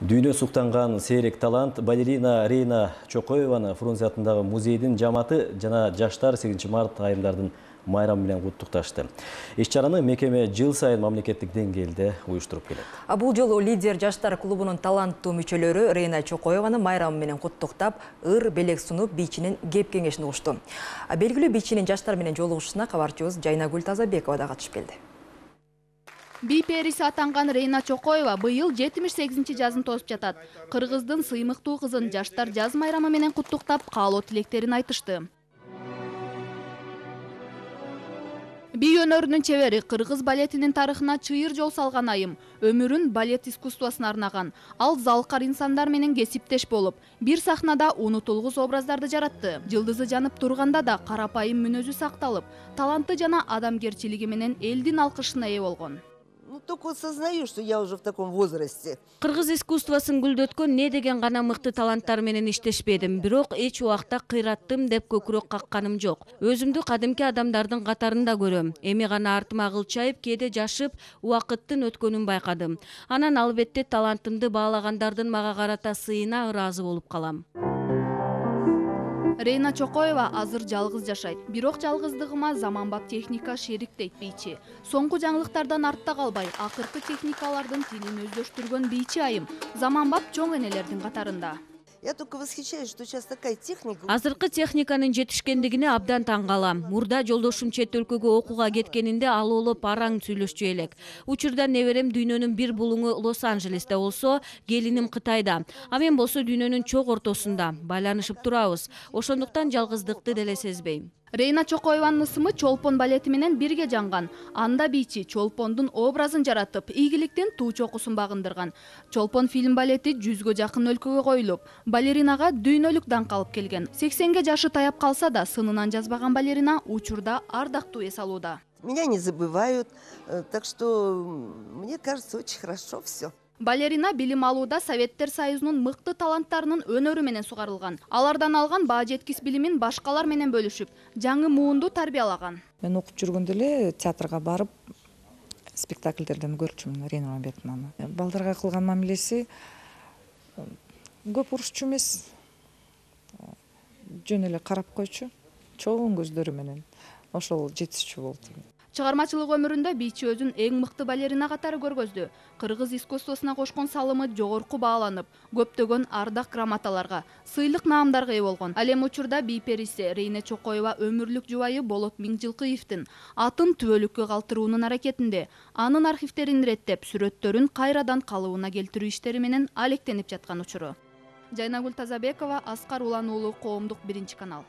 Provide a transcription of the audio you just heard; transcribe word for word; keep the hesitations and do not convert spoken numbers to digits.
Дүйнө суктанган сейрек талант балерина Рейна Чокоеваны Фрунзе атындагы музейдин жамааты жана жаштар сегизинчи март айымдардын майрамы менен куттукташты. Иш-чараны мекеме жыл сайын мамлекеттик деңгээлде уюштуруп келет. Бул жолу лидер жаштар клубунун таланттуу мүчөлөрү Рейна Чокоеваны майрамы менен куттуктап, ыр белек сунуп, бийчинин кеп кеңешин угушту. Белгилүү бийчинин жаштар менен жолугушуусуна кабарчыбыз Жайнагүл Тазабекова да катышып келди. Би периси атанган Рейна Чокоева быйыл жетимиш сегизинчи жазын тосуп жатат. Кыргыздын сыймыктуу кызын жаштар жаз майрамы менен куттуктап, каалоо тилектерин айтышты. Би өнөрүнүн чебери кыргыз балетинин тарыхына чыйыр жол салган айым, өмүрүн балет искусствосуна арнаган. Ал залкар инсандар менен кесиптеш болуп, бир сахнада унутулгус образдарды жаратты. Жылдызы жанып турганда да карапайым мүнөзү сакталып, таланты жана адамгерчилиги менен элдин алкышына ээ болгон. Ну, только осознаю, что я уже в таком возрасте. Кыргыз искусствосын гүлдөткөн не деген гана мыкты таланттар менен иштешпедим, бирок эч убакта кыйраттым деп көкүрөк какканым жок. Өзүмдү кадимки адамдардын катарында көрөм. Эми гана артыма кылчайып, кээде жашып, убакыттын өткөнүн байкадым. Анан албетте талантымды баалагандардын мага карата сыйына ыраазы болуп калам. Рейна Чокоева азыр жалгыз жашайт. Бирок жалгыздыгыма заманбап техника шерик дейт бийчи. Соңку жаңылыктардан артта калбай, акыркы техникалардын тилин өздөштүргөн бийчи айым заманбап чоң энелердин катарында. Я только восхищаюсь, что сейчас такая техника. Азыркы техниканын жетишкендигине абдан таң калам. Мурда жолдошум чет өлкөгө окууга кеткенинде ал олоп араң сүйлөшчү элек. Учурда неберем дүйнөнүн бир булуңу Лос-Анджелесте болсо, келиним Кытайда. А мен болсо дүйнөнүн чок ортосунда. Байланышып турабыз. Ошондуктан жалгыздыкты деле сезбейм. Рейна Чокоеванын ысымы Чолпон балети менен бирге жанган. Анда бийчи Чолпондун образын жаратып, ийгиликтин туу чокусун багындырган. Чолпон фильм балети жүзгө жакын өлкөгө коюлуп, балеринага дүйнөлүк даңк алып келген. сексенге жашы таяп калса да, сынынан жазбаган балерина учурда ардактуу эс алууда. Меня не забывают, так что мне кажется, очень хорошо все. Балерина билим алууда Советтер Союзунун мыкты таланттарынын өнөрү менен сугарылган. Алардан алган баа жеткис билимин башкалар менен бөлүшүп, жаңы муунду тарбиялаган. Мен окуп жүргөндө эле театрга барып, спектакльдерден көрчүмүн Рейна Мамбетовнаны. Балдарга кылган мамилеси көп урушчу эмес. Жөн эле карап койчу, чоң көздөрү менен. Ошол жетишчү болду. Чыгармачылык өмүрүндө бийчи өзүн эң мыкты балерина катары көргөздү. Кыргыз искусствосуна кошкон салымы жогорку бааланып, көптөгөн ардак грамоталарга, сыйлык наамдарга ээ болгон. Ал эми учурда би периси Рейна Чокоева өмүрлүк жубайы Болот Миңжилкыевдин атын түбөлүккө калтыруунун аракетинде, анын архивтерин иреттеп, сүрөттөрүн кайрадан калыбына келтирүү иштери менен алектенип жаткан учуру. Жайнагүл Тазабекова, Аскар Улан уулу, Коомдук биринчи канал.